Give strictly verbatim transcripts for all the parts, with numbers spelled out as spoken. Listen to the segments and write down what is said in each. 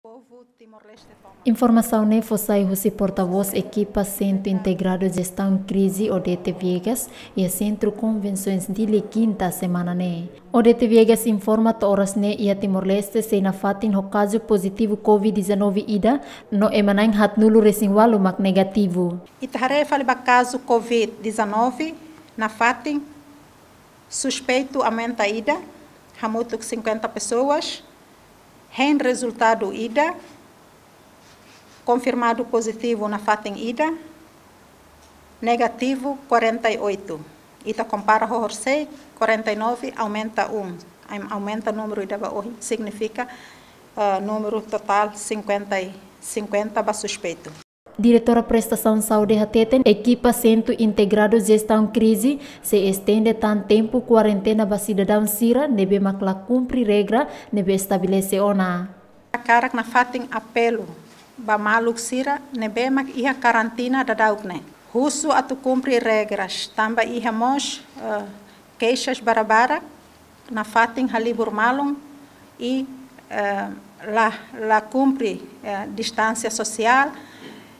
Povu Timor-Leste tomak. Informasaun ne'e fó sai husi portavós ekipa Sentru Integradu Jestaun Krize, Odete Viegas, iha Sentru Konvensoens Dili, kinta semana ne'e. Odete Viegas informa to'o oras ne'e iha Timor-Leste sei nafatin ho kazu pozitivu covid dezanove ida, no ema na'in haatnulu resin ualu mak negativu. Ita haree fali ba kazu covid dezanove nafatin, suspeitu aumenta ida, hamutuk cinquenta pessoas, hein rezultadu ida, konfirmadu pozitivu nafatin ida, negativu quarenta e oito. Ita kompara ho horisehik, quarenta e nove aumenta um, aumenta númeru ida ba ohin, signifika, eh, númeru totál cinquenta e, cinquenta ba suspeitu. Diretora Prestasaun Saúde hateten, ekipa Sentru Integradu Jestaun Krize sei estende tan tempu kuarentena ba sidadaun sira ne'ebé mak la kumpre regra ne'ebé estabelese ona. Hakarak nafatin apelu ba maluk sira ne'ebé mak iha karantina daudauk ne'e, husu atu kumpre regras, tanba iha mós, eh, keixas barak-barak nafatin halibur malu i, eh, la, la kumpre, eh, distánsia sosiál.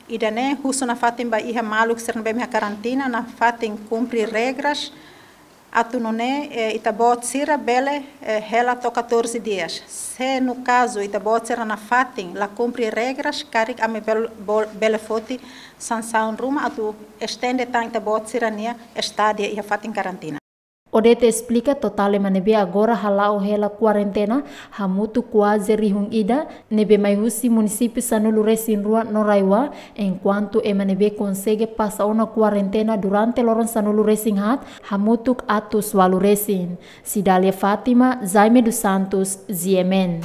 Ida-ne'e husu nafatin ba iha maluk sira ne'ebé mak iha karantina nafatin kumpre regras, atu nune'e, eh, ita-boot sira bele, eh, hela to'o catorze dias. Se no kazu ita-boot sira nafatin la kumpre regras, karik ami bel-, bol-, bele foti sansaun ruma atu estende tan ita-boot sira-nia estadia iha fatin karantina. Odete esplika, totál ema ne'ebé agora hala'o hela kuarentena hamutuk kuaze rihun ida, ne'ebé mai husi munisípiu sanulu resin rua no RAEOA, enkuantu ema ne'ebé konsege pasa ona kuarentena durante loron sanulu resin haat hamutuk atus ualu resin. Cidália Fátima, Jaime dos Santos, G M N.